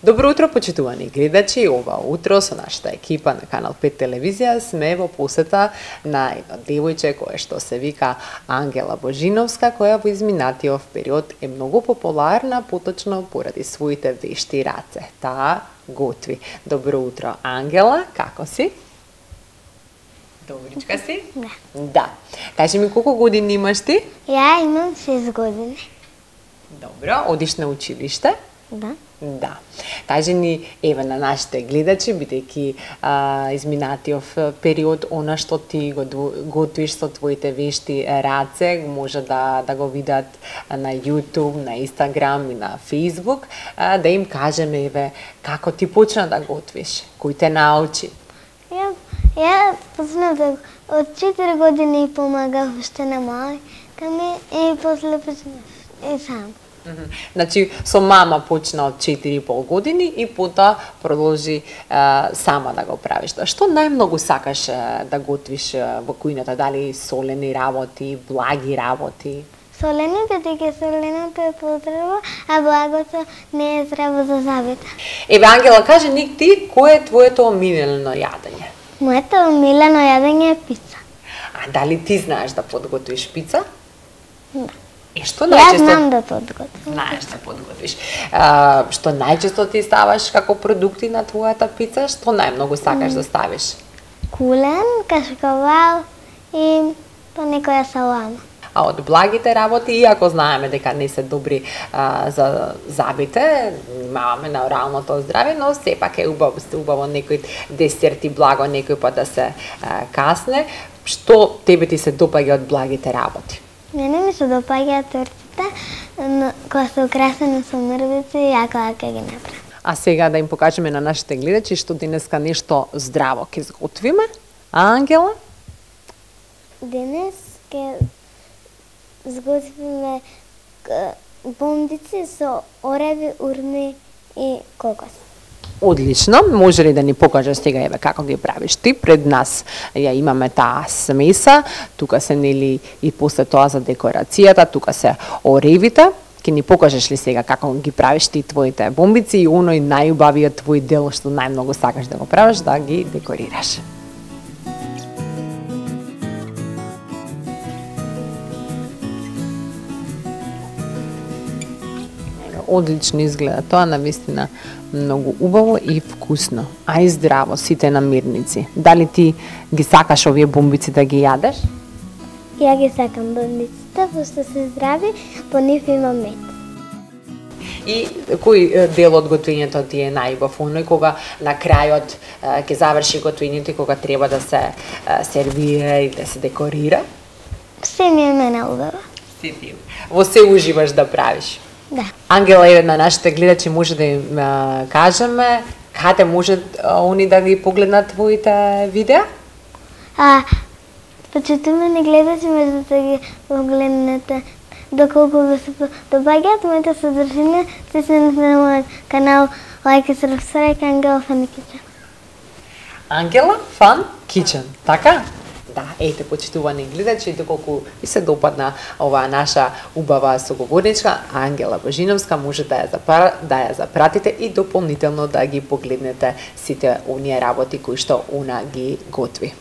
Добро утро, почитувани гледачи. Ова утро со нашата екипа на Канал 5 телевизија сме во посета на едно девојче кое што се вика Ангела Божиновска, која во изминатиот период е многу популарна, поточно поради своите вешти раце. Таа готви. Добро утро, Ангела, како си? Добричка си? Да. Да. Кажи ми колку години имаш ти? Ја имам 6 години. Добро, одиш на училиште? Да. Да. Кажи ни, еве на нашите гледачи, бидејќи изминатиот период, она што ти го готвиш со твоите вешти раце, може да го видат на YouTube, на Instagram и на Facebook, да им кажеме, еве, како ти почна да готвиш, кој те научи? Ја почнав да од 4 години и помагав уште на мајка ми и после почнав и сам. Значи, со мама почна од 4,5 години и потоа продолжи сама да го правиш. Што најмногу сакаш да готвиш во кујната? Дали солени работи, благи работи? Солени, бидејќи соленото е потреба, а благото не е здраво за зъбите. Еве, Ангела, кажи ни ти, кој е твоето омилено јадење? Моето омилено јадење е пица. А дали ти знаеш да подготвиш пица? Да. Што Ја најчесто знам да подготвам. знаеш да подготвиш? Што најчесто ти ставаш како продукти на твојата пица? Што најмногу сакаш да ставиш? Кулен, кашкавал и понекоја салама. А од благите работи, иако знаеме дека не се добри за зъбите, имаме на оралното здраве, но сепак е убаво некој десерти благо некој пат да се касне. Што тебе ти се допаѓа од благите работи? Мене ми се допаѓаат тортите, кои се украсени со мрвици и јако ќе ги направам. А сега да им покажеме на нашите гледачи што денеска нешто здраво ќе изготвиме. А, Ангела? Денес ќе изготвиме бомбици со ореви, урми и кокос. Одлично, може ли да ни покажеш сега еве како ги правиш ти? Пред нас ја имаме таа смеса, тука се нели и после тоа за декорацијата, тука се оревите. Ќе ни покажеш ли сега како ги правиш ти твоите бомбици и оној најубавиот твој дел што најмногу сакаш да го правиш, да ги декорираш? Одлично изгледа тоа, навистина многу убаво и вкусно, а и здраво, сите намирници. Дали ти ги сакаш овие бомбици да ги јадеш? Ја ги сакам бомбиците, пошто се здрави, по нив има мед. И кој дел од готвењето ти е најубав? Оној кога на крајот ќе заврши готвењето и кога треба да се сервира и да се декорира? Се ми е мене убаво. Си ти. Во се уживаш да правиш? Да. Ангела, еве на нашите гледачи може да им кажеме каде може они да ги погледнат твоите видеа? Почитувани гледачи може да ги погледнете доколку ви се допаѓаат моите содржина, стиснете на мојот канал лајк и сабскрајб Ангела Фан Кичен. Ангела Фан Кичен, така? Да, ете, почитувани гледачи, доколку ви се допадна оваа наша убава соговорничка, Ангела Божиновска, може да ја запратите и дополнително да ги погледнете сите оние работи кои што она ги готви.